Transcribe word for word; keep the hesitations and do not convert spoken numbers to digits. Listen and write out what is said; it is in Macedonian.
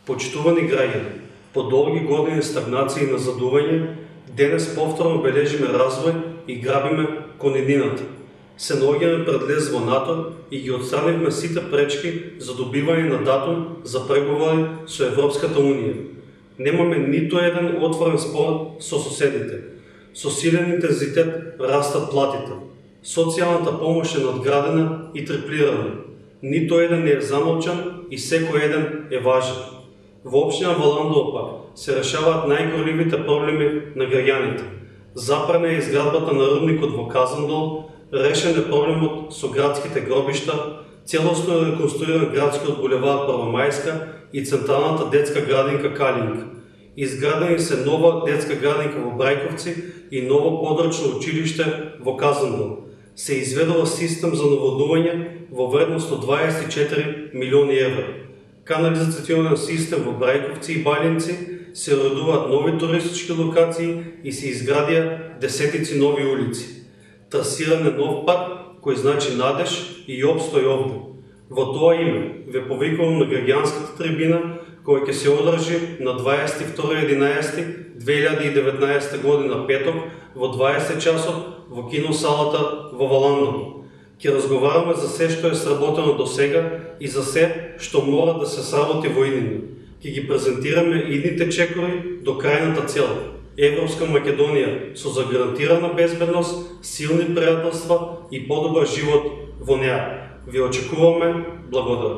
Почитувани граѓани, по долги години стагнација и назадување, денес повторно бележиме развој и грабиме кон иднината. Се наоѓаме пред лез во НАТО и ги отстранивме сите пречки за добивање на датум за преговори со Европската Унија. Немаме ниту еден отворен спор со соседите. Со силен интензитет растат платите. Социјалната помош е надградена и триплирана. Ниту еден не е замолчан и секој еден е важен. Во општина Валандово пак се решаваат најгорливите проблеми на граѓаните. Запрена е изградбата на рудникот во Казандол, решен е проблемот со градските гробишта, целосно е реконструиран градскиот булевар Првомајска и централната детска градинка Калинка. Изградени се нова детска градинка во Брајковци и ново подрачно училиште во Казандол. Се изведува систем за наводнување во вредност од дваесет и четири милиони евра. Канализационен систем во Брајковци и Баљинци, се уредуваат нови туристички локации и се изградија десетици нови улици. Трасиран е нов пат кој значи надеж и опстој овде. Во тоа име ве повикувам на граѓанската трибина која ќе се одржи на дваесет и втори единаесети две илјади и деветнаесетта година петок во дваесет часот во киносалата во Валандово. Ќе разговараме за се што е сработено до сега и за се што мора да се сработи во иднина. Ќе ги презентираме идните чекори до крајната цел. Европска Македонија со загарантирана безбедност, силни пријателства и подобар живот во неа. Ви очекуваме. Благодарам.